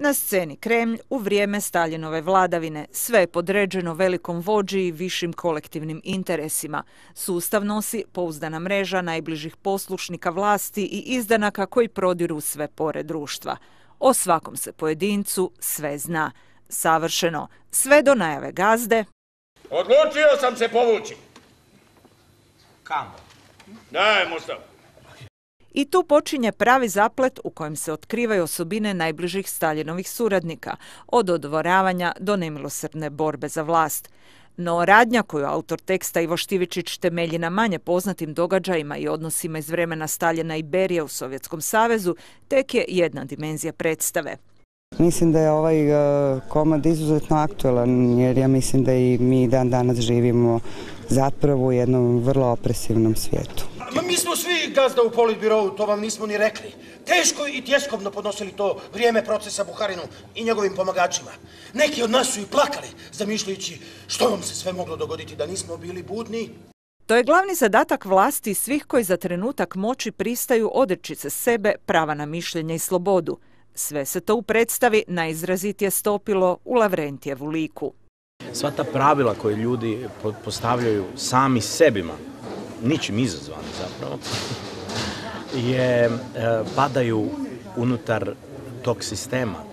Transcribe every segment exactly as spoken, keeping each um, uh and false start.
Na sceni Kremlj u vrijeme Staljinove vladavine, sve je podređeno velikom vođi i višim kolektivnim interesima. Sustav nosi pouzdana mreža najbližih poslušnika vlasti i izdanaka koji prodiru sve pore društva. O svakom se pojedincu sve zna. Savršeno, sve do najave gazde. Odlučio sam se povući. Kamo? Daj, Mustafa. I tu počinje pravi zaplet u kojem se otkrivaju osobine najbližih Staljinovih suradnika, od dodvoravanja do nemilosrdne borbe za vlast. No radnja koju autor teksta Ivo Štivičić temelji na manje poznatim događajima i odnosima iz vremena Staljina i Berije u Sovjetskom savezu tek je jedna dimenzija predstave. Mislim da je ovaj komad izuzetno aktualan jer ja mislim da i mi dan danas živimo zapravo u jednom vrlo opresivnom svijetu. Ma mi smo svi gazda u politbirovu, to vam nismo ni rekli. Teško i tjeskobno podnosili to vrijeme procesa Buharinu i njegovim pomagačima. Neki od nas su i plakali, zamišljajući što vam se sve moglo dogoditi da nismo bili budni. To je glavni zadatak vlasti svih koji za trenutak moći pristaju odreći se sebe prava na mišljenje i slobodu. Sve se to u predstavi najizrazitije stopilo u Lavrentijevu liku. Sva ta pravila koje ljudi postavljaju sami sebima, ničim izazvani zapravo, je, padaju unutar tog sistema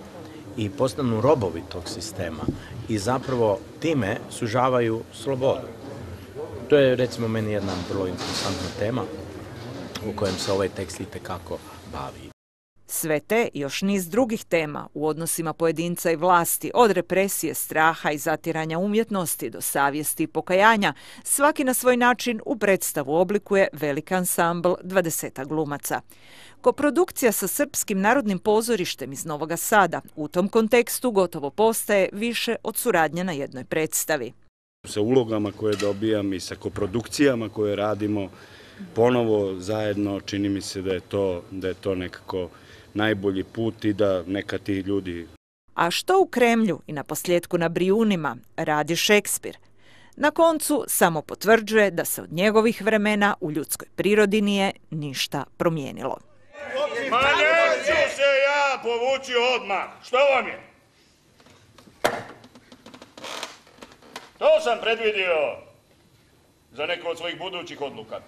i postanu robovi tog sistema i zapravo time sužavaju slobodu. To je recimo meni jedna vrlo interesantna tema u kojem se ovaj tekst itekako bavi. Sve te i još niz drugih tema u odnosima pojedinca i vlasti, od represije, straha i zatiranja umjetnosti do savjesti i pokajanja, svaki na svoj način u predstavu oblikuje veliki ansambl dvadesetak glumaca. Koprodukcija sa Srpskim narodnim pozorištem iz Novoga Sada u tom kontekstu gotovo postaje više od suradnje na jednoj predstavi. Sa ulogama koje dobijam i sa koprodukcijama koje radimo ponovo zajedno, čini mi se da je to, da je to nekako najbolji put i da neka ti ljudi... A što u Kremlju i na posljedku na Brijunima radi Šekspir? Na koncu samo potvrđuje da se od njegovih vremena u ljudskoj prirodi nije ništa promijenilo. Ma neću se ja povući odmah. Što vam je? To sam predvidio za neku od svojih budućih odluka.